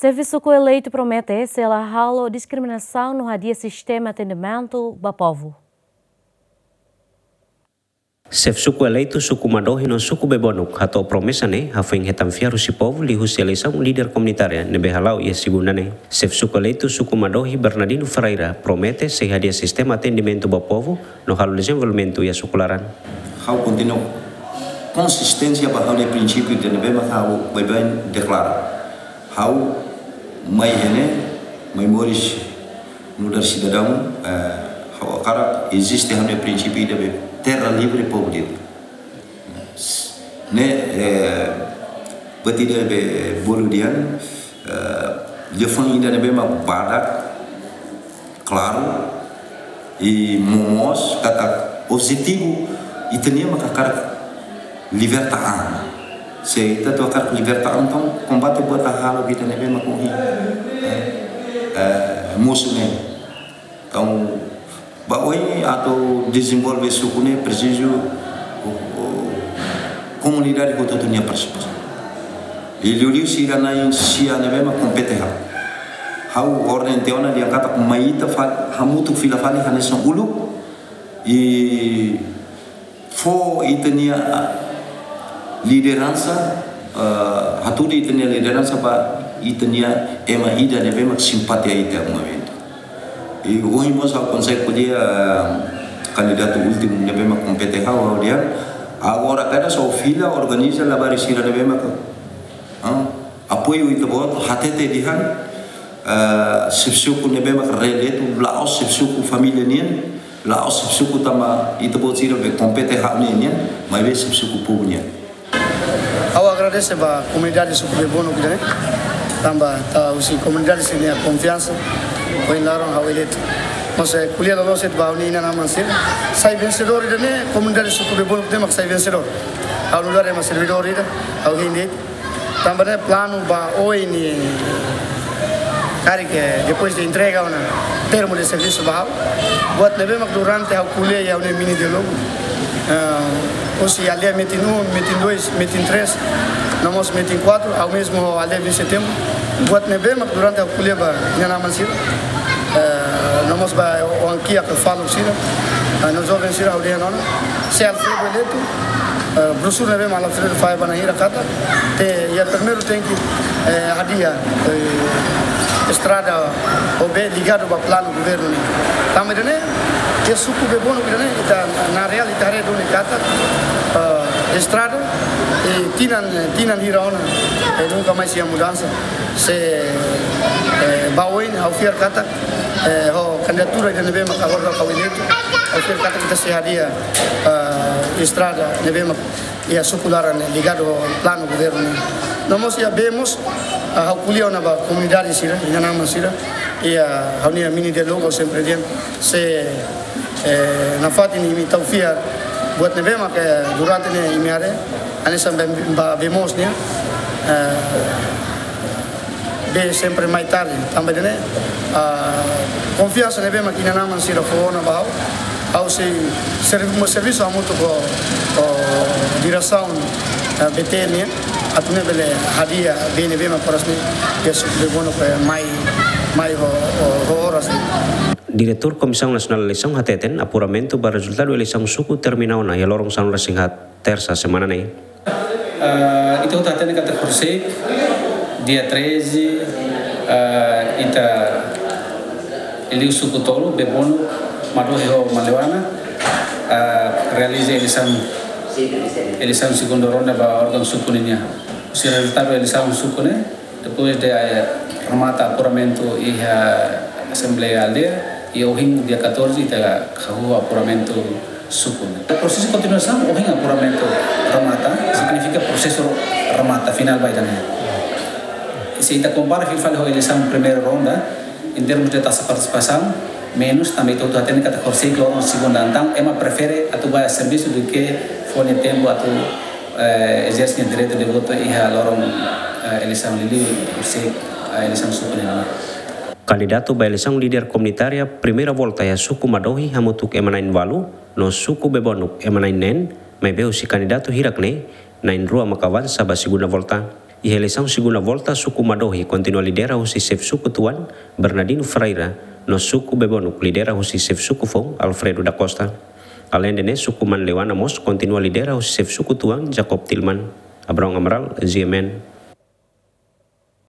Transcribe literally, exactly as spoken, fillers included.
Xefe suku eleitu promete sei la halo diskriminasaun no hadi'a sistema atendimentu ba povu. Xefe suku eleitu suku Madohi no suku Bebonuk hato'o promesa ne'e hafoin hetan fiar husi povu liuhusi eleisaun líder komunitária ne'ebé hala'o iha segunda ne'e. Xefe suku eleitu suku Madohi Bernardino Ferreira promete sei hadi'a sistema atendimentu ba povu no halo dezenvolvimentu iha suku laran. Ha'u kontinua konsisténsia ba ha'u-nia prinsípiu ida ne'ebé mak ha'u baibain deklara. Ha'u mai iha ne'e, mai moris nu'udar sidadaun, eh, ha'u hakarak eziste ha'u-nia prinsípiu ida be terra livre, povo livre. Ne'e, eh, buat ida be bolu dehan, eh, liafuan ida ne'ebé mak badak, klaru, i momoos katak objetivu ita-nian mak hakarak liberta an. Se ita atu hakarak liberta an, entaun kombate buat hahalok ida ne'ebé mak ohin, eh, eh, mosu ne'e. Entaun, ba oin atu dezenvolve suku ne'e presiza, o, o, komunidade hotu-hotu nia partisipasaun. I liuliu sira na'in sia ne'ebé mak kompete ha'u. Ha'u orden tiha ona dehan katak mai ita fali, hamutuk fila fali hanesan uluk. I fó ita-nia lideransa, eh, hatudu ita-nia lideransa ba ita-nia ema ida ne'ebé mak simpatiza ita movimentu. I ohin mós ha'u konsege ko'alia, eh, kandidatu últimu ne'ebé mak kompete ha'u, ha'u dehan, agora kada só fila organiza labarik sira ne'ebé mak, ah, apoiu ita-boot, hatete dehan, eh, xefe suku ne'ebé mak reeleitu, la'ós xefe suku família nian, la'ós xefe suku tanba ita-boot sira be kompete ha'u-nian nian, maibé xefe suku povu nian. Ha'u agradese ba komunidade suku Bebonuk ida-ne'e, tanba ita husi komunidade sira-nia konfiansa, ohin loron ha'u eleitu. Mas, eh, ko'alia loloos de'it ba ha'u-nia inan-aman sira, sai vensedór ida-ne'e, komunidade suku Bebonuk ida-ne'e mak sai vensedór. Ha'u nu'udar ema servidór ida, ha'u hein de'it. Tanba ne'e planu ba oin ne'e, karik, eh, depois de entrega ona termu de servisu ba ha'u, buat ne'ebé mak durante ha'u ko'alia iha ha'u-nia mini diálogu, eh, husi aldeia metin um, metin dois, metin três, no mós metin quatro, ha'u mezmu ho aldeia Vinte de Setembro, buat ne'ebé mak durante ha'u ko'alia ba inan-aman sira, eh, no mós ba oan-kiak, faluk sira, eh, no joven sira, ha'u dehan ona, se Alfredo eleitu, eh, broxura ne'ebé mak Alfredo fahe ba na'in hira katak, te iha primeiru tenke, eh, hadi'a, eh, estrada ou bee ligadu ba planu governu nian. Tanba ida-ne'e, iha suku Bebonuk ida-ne'e, ita na real ita haree duni katak, eh, estrada, eh, tinan, tinan hira ona, eh, nunka mais iha mudansa. Se, eh, ba oin ha'u fiar katak, eh, ho kandidatura ida ne'ebé mak agora ha'u eleitu, ha'u fiar katak ita sei hadi'a, eh, estrada ne'ebé mak iha suku laran ne'e ligadu ho planu governu nian. No mós iha bee mós, ah, ha'u ko'alia ona ba komunidade sira, inan-aman sira, iha ha'u-nia mini diálogu sempre dehan, se, eh, nafatin imi tau fiar, buat ne'ebé mak, eh, durante ne'e imi haree, hanesan ba, ba bee moos nian, eh, bee sempre mai tarde, tanba ida-ne'e, ah, konfiansa ne'ebé mak inan-aman sira fó ona ba ha'u, ha'u sei servi-, mós servisu hamutuk ho, ho diresaun, eh, B T N nian, atu nune'e bele hadi'a bee ne'ebé mak oras ne'e, iha suku Bebonuk, eh, mai, mai ho, ho, ho oras ne'e. Diretór Komisaun Nasionál Eleisaun hateten, apuramentu ba rezultadu eleisaun suku termina ona iha loron sanulu-resin-haat, Tersa semana ne'e. Ah, ita hotu hatene katak horisehik, dia treze, ah, ita liu suku tolu, Bebonuk, Madohi ho Maliwana, ah, realiza eleisaun, eleisaun segunda ronda ba órgaun suku nian. Husi rezultadu eleisaun suku ne'e, depois de, eh, remata apuramentu iha Asembleia Aldeia, i ohin dia catorze ita hahú apuramentu suku ne'e. Prosesu kontinuasaun, ohin apuramentu remata, signifika prosesu remata, finál ba ida-ne'e. Se ita kompara fila fali ho eleisaun primeira ronda, em termos de taxa partisipasaun, menus, tanba ita hotu hatene katak horisehik loron segunda, entaun ema prefere atu bá servisu duké fó nia tempu atu, eh, ezerse nia direitu de votu iha loron, eh, eleisaun liuliu, horisehik, eh, eleisaun suku nian. Kandidatu ba eleisaun líder komunitária primeira volta iha suku Madohi hamutuk ema na'in-ualu, no suku Bebonuk ema na'in-neen, maibé husi kandidatu hirak ne'e, na'in-rua maka avansa ba segunda volta. Iha eleisaun segunda volta, suku Madohi kontinua lidera husi xefe suku tuan, Bernardino Ferreira, no suku Bebonuk lidera husi xefe suku foun, Alfredo da Costa. Aleinde ne'e, suku Manleuana mós kontinua lidera husi xefe suku tuan, Jacob Tilman. Abraão Amaral, G M N.